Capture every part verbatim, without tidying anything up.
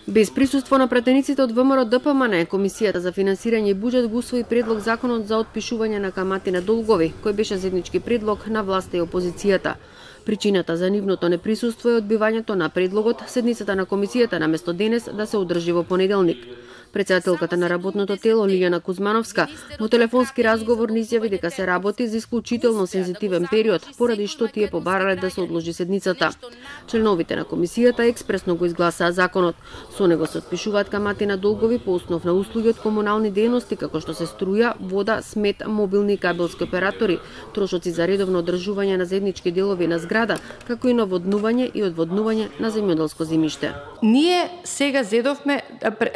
Без присуство на пратениците од ВМРО Д П М Н, Комисијата за финансирање и буџет го усвои предлог законот за отпишување на камати на долгови, кој беше заеднички предлог на власта и опозицијата. Причината за нивното неприсуство е одбивањето на предлогот седницата на комисијата наместо денес да се одржи во понеделник. Председателката на работното тело Лиљана Кузмановска во телефонски разговор ни изјави дека се работи за исклучително сензитивен период, поради што тие побарале да се одложи седницата. Членовите на комисијата експресно го изгласаа законот. Со него се отпишуваат камати на долгови по основ на услуги од комунални дејности како што се струја, вода, смет, мобилни и кабелски оператори, трошоци за редовно одржување на заеднички делови на зграда, како и наводнување и одводнување на земјоделско земјиште. Ние сега зедовме,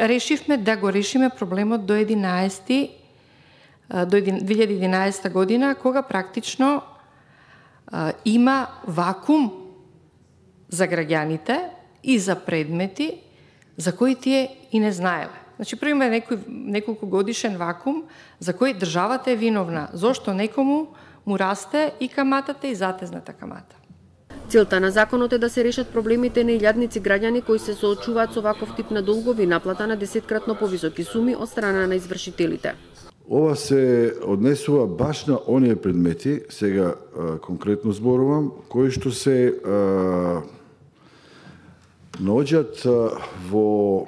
решивме да го решиме проблемот до единаесети до две илјади и единаесета година, кога практично а, има вакуум за граѓаните и за предмети за кои тие и не знаеле. Значи, прво има некој неколку годишен вакуум за кој државата е виновна, зошто некому му расте и каматата и затезната камата. Целта на законот е да се решат проблемите на илјадници граѓани кои се соочуваат со ваков тип на долгови, наплата на десеткратно повисоки суми од страна на извршителите. Ова се однесува баш на оние предмети, сега а, конкретно зборувам, кои што се а, наоѓаат во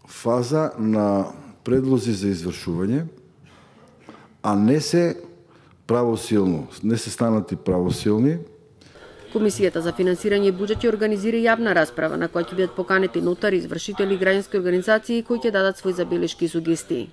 фаза на предлози за извршување, а не се правосилно, не се станати правосилни. Комисијата за финансирање и буџет ќе организира јавна расправа на која ќе бидат поканети нотари, извршители и граѓански организации кои ќе дадат свои забелешки и сугестии.